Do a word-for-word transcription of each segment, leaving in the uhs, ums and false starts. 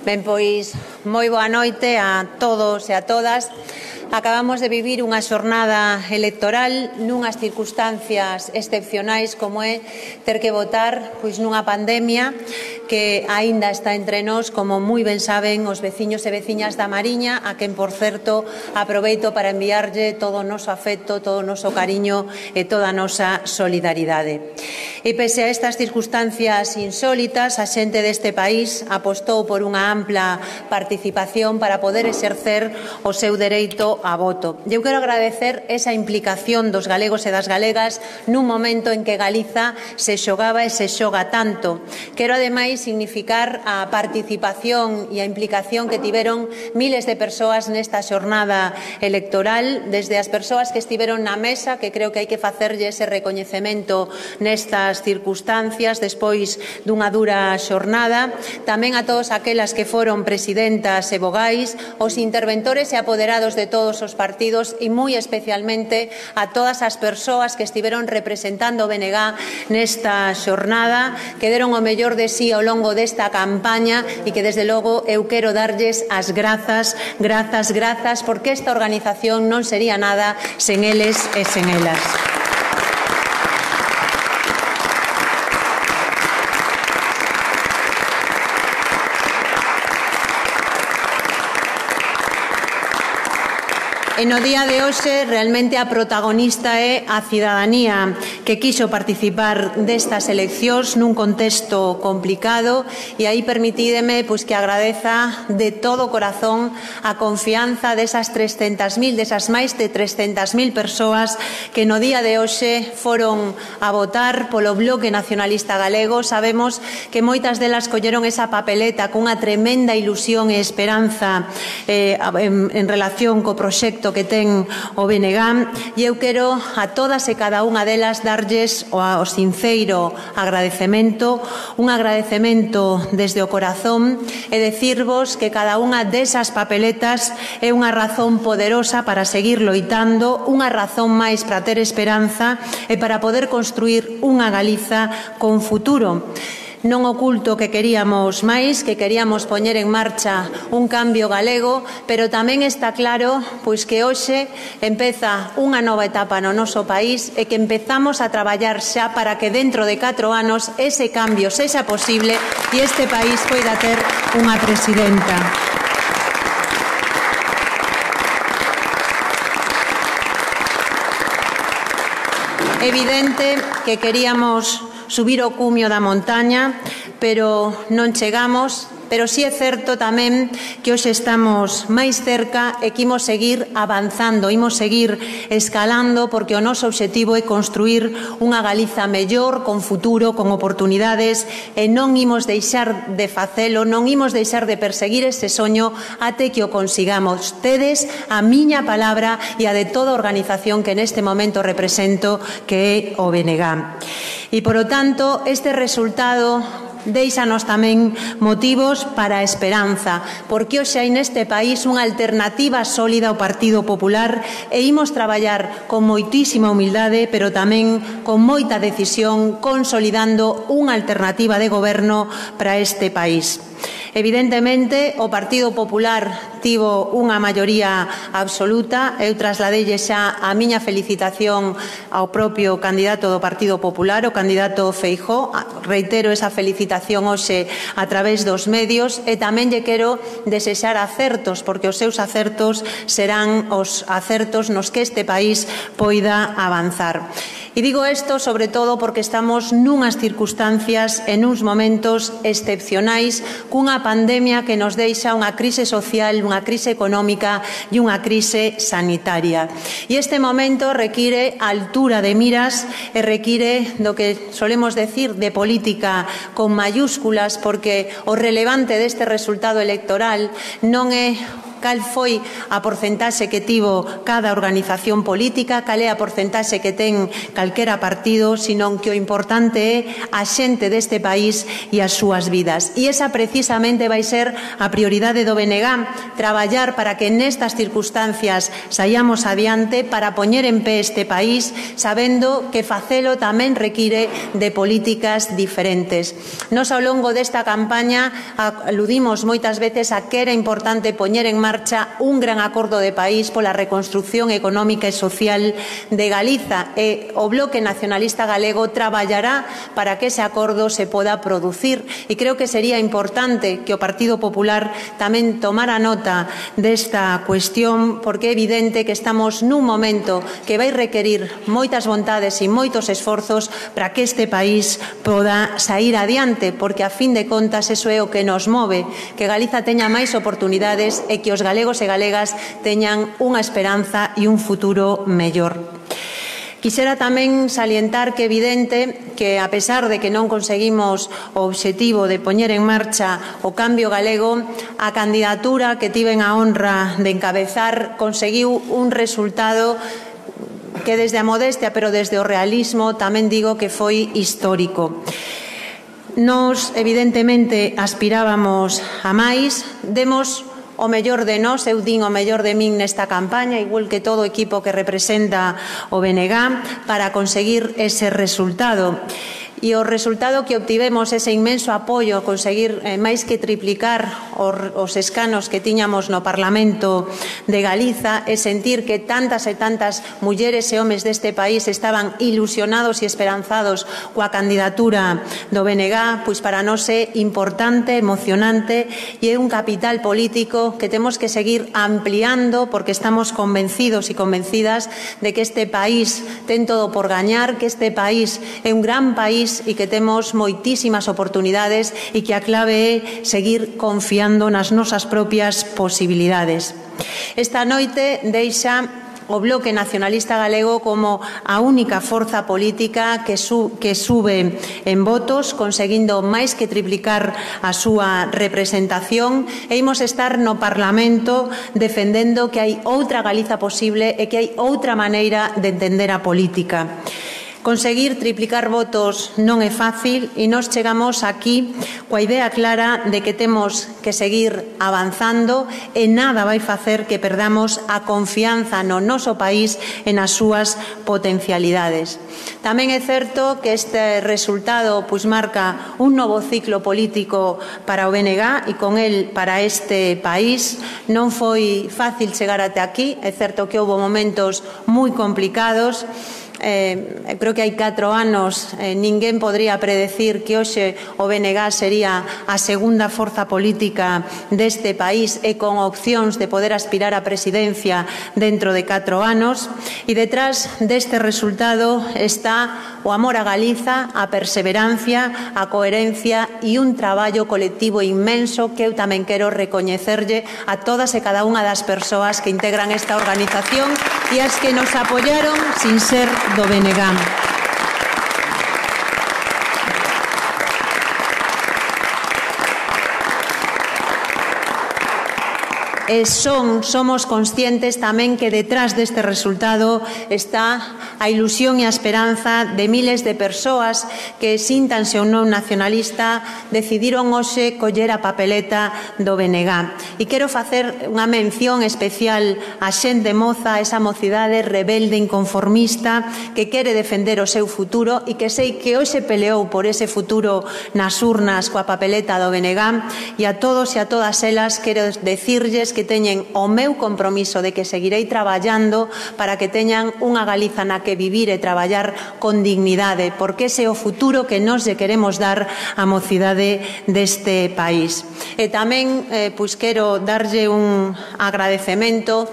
Ben, pois, moi boa noite a todos e a todas. Acabamos de vivir unha xornada electoral nunhas circunstancias excepcionais como é ter que votar pois nunha pandemia que aínda está entre nós, como moi ben saben os veciños e veciñas da Mariña, a quen, por certo, aproveito para enviarlle todo o noso afecto, todo o noso cariño e toda a nosa solidaridade. E pese a estas circunstancias insólitas, a xente deste país apostou por unha ampla participación para poder exercer o seu dereito a voto. Eu quero agradecer esa implicación dos galegos e das galegas nun momento en que Galiza se xogaba e se xoga tanto. Quero, ademais, significar a participación e a implicación que tiveron miles de persoas nesta xornada electoral, desde as persoas que estiveron na mesa, que creo que hai que facerlle ese recoñecemento nestas circunstancias despois dunha dura xornada, tamén a todos aquelas que foron presidentas e vogais, os interventores e apoderados de todos os partidos e moi especialmente a todas as persoas que estiveron representando o B N G nesta xornada, que deron o mellor de sí ao longo desta campaña e que, desde logo, eu quero darlles as grazas, grazas, grazas, porque esta organización non sería nada sen eles e sen elas. E no día de hoxe, realmente a protagonista é a cidadanía que quixo participar destas eleccións nun contexto complicado, e aí permitídeme pois, que agradeza de todo corazón a confianza desas trescentas mil, desas máis de trescentas mil persoas que no día de hoxe foron a votar polo Bloque Nacionalista Galego. Sabemos que moitas delas colleron esa papeleta cunha tremenda ilusión e esperanza eh, en, en relación co proxecto que ten o B N G, e eu quero a todas e cada unha delas darlles o, o sinceiro agradecemento, un agradecemento desde o corazón, e decirvos que cada unha desas papeletas é unha razón poderosa para seguir loitando, unha razón máis para ter esperanza e para poder construir unha Galiza con futuro. Non oculto que queríamos máis, que queríamos poñer en marcha un cambio galego, pero tamén está claro pois que hoxe empeza unha nova etapa no noso país e que empezamos a traballar xa para que dentro de catro anos ese cambio sexa posible e este país poida ter unha presidenta. Evidente que queríamos subir o cumio da montaña, pero non chegamos, pero si é certo tamén que hoxe estamos máis cerca e que imos seguir avanzando, imos seguir escalando, porque o noso obxectivo é construir unha Galiza mellor, con futuro, con oportunidades, e non imos deixar de facelo, non imos deixar de perseguir ese soño até que o consigamos. Tedes a miña palabra e a de toda a organización que neste momento represento, que é o B N G. E, por lo tanto, este resultado deixanos tamén motivos para a esperanza, porque hoxe hai neste país unha alternativa sólida ao Partido Popular e imos traballar con moitísima humildade, pero tamén con moita decisión, consolidando unha alternativa de goberno para este país. Evidentemente, o Partido Popular tivo unha maioría absoluta. Eu trasladelle xa a miña felicitación ao propio candidato do Partido Popular, o candidato Feijóo. Reitero esa felicitación hoxe a través dos medios e tamén lle quero desexar acertos, porque os seus acertos serán os acertos nos que este país poida avanzar. E digo isto sobre todo porque estamos nunhas circunstancias e nuns momentos excepcionais, cunha pandemia que nos deixa unha crise social, unha crise económica e unha crise sanitaria. E este momento require altura de miras e require do que solemos decir de política con mayúsculas, porque o relevante deste resultado electoral non é cal foi a porcentaxe que tivo cada organización política, cal é a porcentaxe que ten calquera partido, senón que o importante é a xente deste país e as súas vidas. E esa precisamente vai ser a prioridade do B N G, traballar para que nestas circunstancias saíamos adiante, para poñer en pé este país, sabendo que facelo tamén require de políticas diferentes. Nos, ao longo desta campaña, aludimos moitas veces a que era importante poñer en marcha un gran acordo de país pola reconstrucción económica e social de Galiza, e o Bloque Nacionalista Galego traballará para que ese acordo se poda producir, e creo que sería importante que o Partido Popular tamén tomara nota desta cuestión, porque é evidente que estamos nun momento que vai requerir moitas vontades e moitos esforzos para que este país poda sair adiante, porque a fin de contas eso é o que nos move, que Galiza teña máis oportunidades e que os galegos e galegas teñan unha esperanza e un futuro mellor. Quixera tamén salientar que é evidente que, a pesar de que non conseguimos o obxectivo de poñer en marcha o cambio galego, a candidatura que tiven a honra de encabezar conseguiu un resultado que desde a modestia, pero desde o realismo, tamén digo que foi histórico. Nos, evidentemente, aspirábamos a máis, demos o mellor de nós, eu din o mellor de min nesta campaña, igual que todo o equipo que representa o B N G, para conseguir ese resultado. E o resultado que obtivemos, ese inmenso apoio, conseguir eh, máis que triplicar os, os escanos que tiñamos no Parlamento de Galiza, e sentir que tantas e tantas mulleres e homes deste país estaban ilusionados e esperanzados coa candidatura do B N G, pois para nós é importante, emocionante, e é un capital político que temos que seguir ampliando, porque estamos convencidos e convencidas de que este país ten todo por gañar, que este país é un gran país e que temos moitísimas oportunidades e que a clave é seguir confiando nas nosas propias posibilidades. Esta noite deixa o Bloque Nacionalista Galego como a única forza política que, su, que sube en votos, conseguindo máis que triplicar a súa representación, e imos estar no Parlamento defendendo que hai outra Galiza posible e que hai outra maneira de entender a política. Conseguir triplicar votos non é fácil, e nós chegamos aquí coa idea clara de que temos que seguir avanzando, e nada vai facer que perdamos a confianza no noso país e nas súas potencialidades. Tamén é certo que este resultado pois marca un novo ciclo político para o B N G e con el para este país. Non foi fácil chegar até aquí, é certo que houve momentos moi complicados. Eh, creo que hai catro anos eh, ninguén podría predecir que hoxe o B N G sería a segunda forza política deste país e con opcións de poder aspirar á presidencia dentro de catro anos, e detrás deste resultado está o amor a Galiza, a perseverancia, a coherencia e un traballo colectivo inmenso que eu tamén quero recoñecerlle a todas e cada unha das persoas que integran esta organización e as que nos apoyaron sin ser do B N G. E son, somos conscientes tamén que detrás deste resultado está a ilusión e a esperanza de miles de persoas que, síntanse ou non nacionalista, decidiron hoxe coller a papeleta do B N G. E quero facer unha mención especial a xente moza, esa mocidade rebelde, inconformista, que quere defender o seu futuro e que sei que hoxe peleou por ese futuro nas urnas coa papeleta do B N G, e a todos e a todas elas quero decirlles que teñen o meu compromiso de que seguirei traballando para que teñan unha Galiza na que vivir e traballar con dignidade, porque ese é o futuro que nós lle queremos dar á mocidade deste país. E tamén eh, pois quero darlle un agradecemento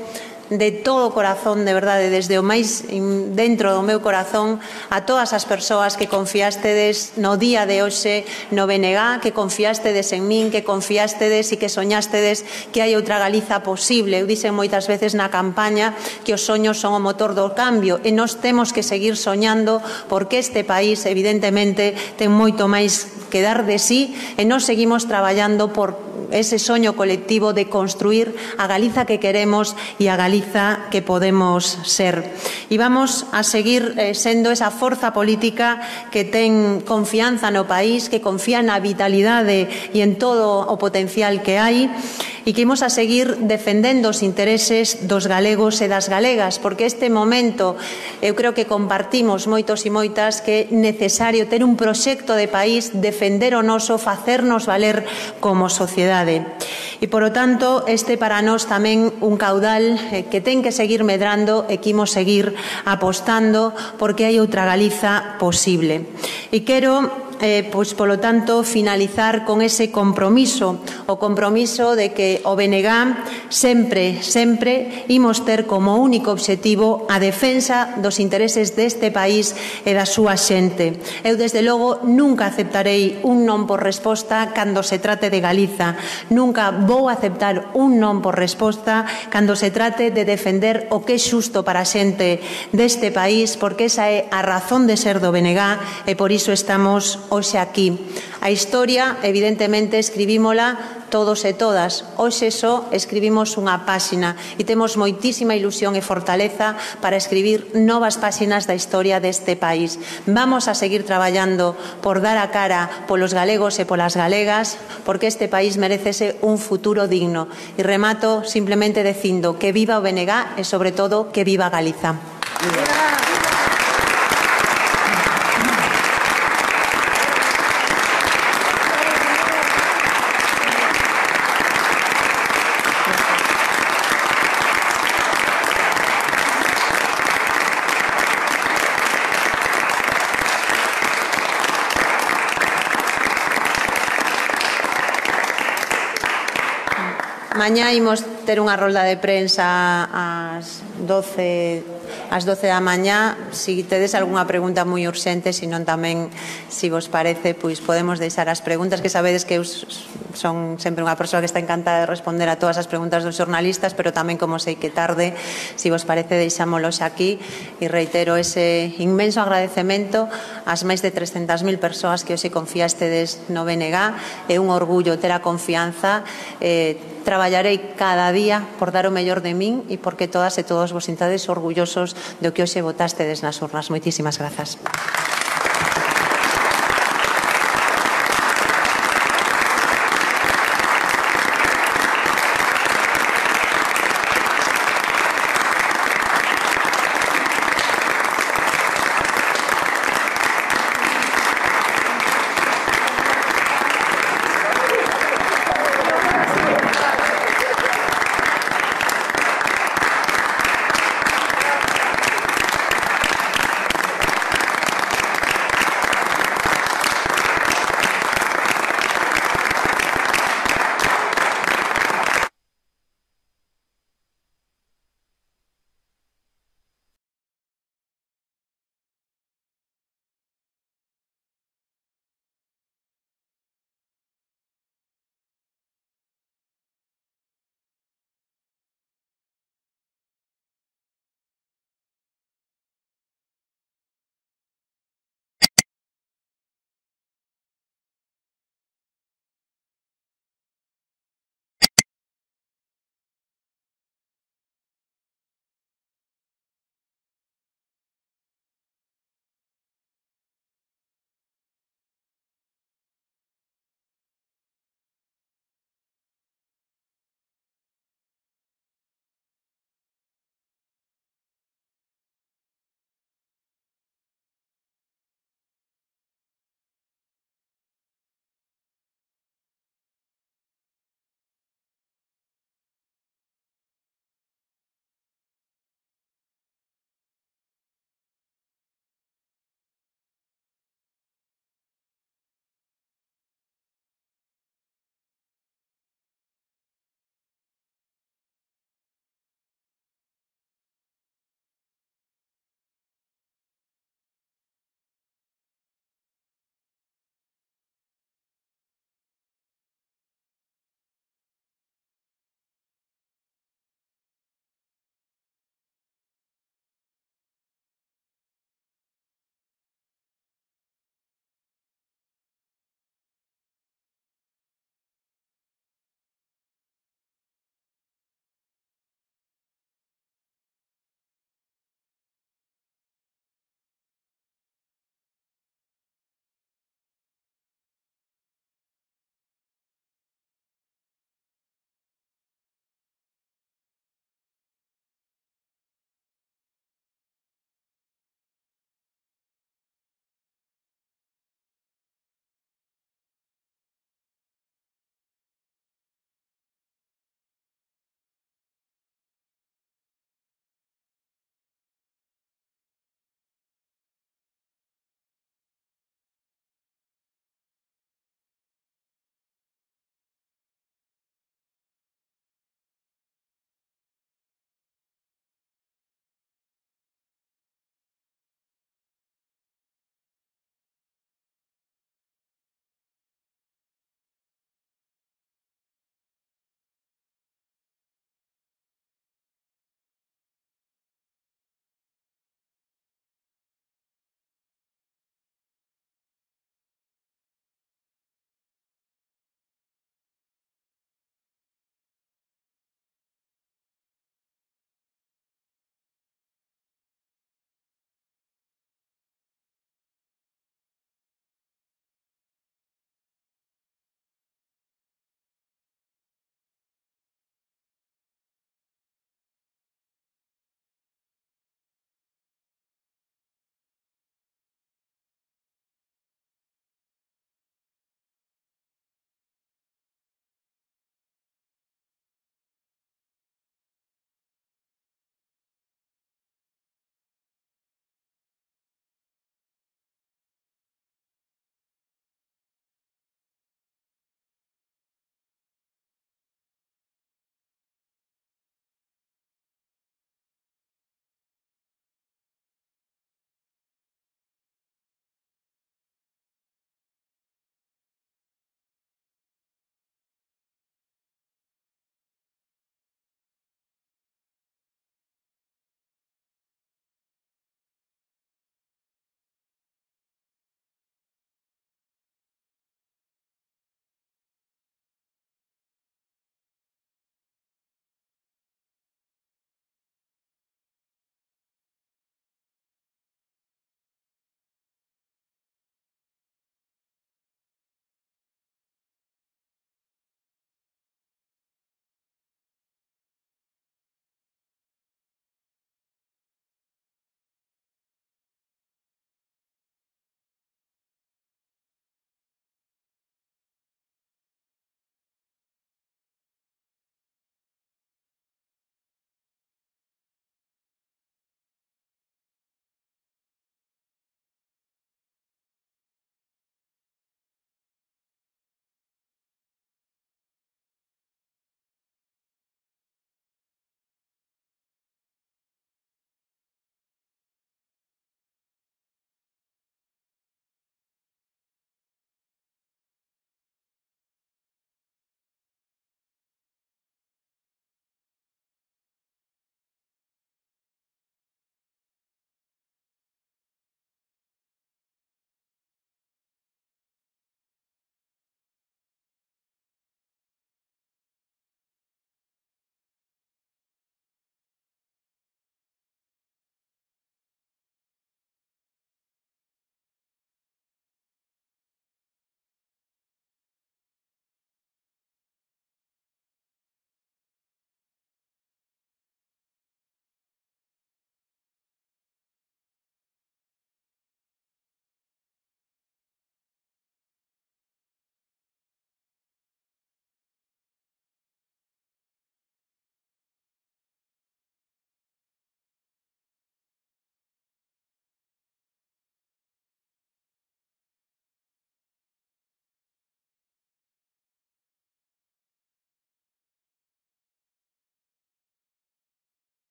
de todo o corazón, de verdade, desde o máis dentro do meu corazón, a todas as persoas que confiástedes no día de hoxe no B N G, que confiástedes en min, que confiástedes e que soñástedes que hai outra Galiza posible. Eu dixen moitas veces na campaña que os soños son o motor do cambio, e nós temos que seguir soñando, porque este país, evidentemente, ten moito máis que dar de sí, e nós seguimos traballando por ese soño colectivo de construir a Galiza que queremos e a Galiza que podemos ser. E vamos a seguir eh, sendo esa forza política que ten confianza no país, que confía na vitalidade e en todo o potencial que hai, e que imos a seguir defendendo os intereses dos galegos e das galegas, porque este momento eu creo que compartimos moitos e moitas que é necesario ter un proxecto de país, defender o noso, facernos valer como sociedade. E, polo tanto, este para nós tamén un caudal que ten que seguir medrando e que imos seguir apostando porque hai outra Galiza posible. E quero Eh, pois, polo tanto, finalizar con ese compromiso, o compromiso de que o B N G sempre, sempre imos ter como único obxectivo a defensa dos intereses deste país e da súa xente. Eu, desde logo, nunca aceptarei un non por resposta cando se trate de Galiza. Nunca vou aceptar un non por resposta cando se trate de defender o que é xusto para a xente deste país, porque esa é a razón de ser do B N G e por iso estamos hoxe aquí. A historia, evidentemente, escribímola todos e todas. Hoxe só escribimos unha páxina e temos moitísima ilusión e fortaleza para escribir novas páxinas da historia deste país. Vamos a seguir traballando por dar a cara polos galegos e polas galegas, porque este país merecese un futuro digno. E remato simplemente dicindo que viva o B N G e, sobre todo, que viva Galiza. Mañá imos ter unha rolda de prensa ás doce ás doce da mañá. Si tedes algunha pregunta moi urxente, senón tamén, se vos parece, pois podemos deixar as preguntas, que sabedes que eu son sempre unha persoa que está encantada de responder a todas as preguntas dos xornalistas, pero tamén, como sei que tarde, se vos parece, deixámolos aquí e reitero ese inmenso agradecemento ás máis de trescentas mil persoas que hoxe confiastedes no B N G. É un orgullo ter a confianza. eh, Traballarei cada día por dar o mellor de min e porque todas e todos vos sintades orgullosos do que hoxe votastedes nas urnas. Moitísimas grazas.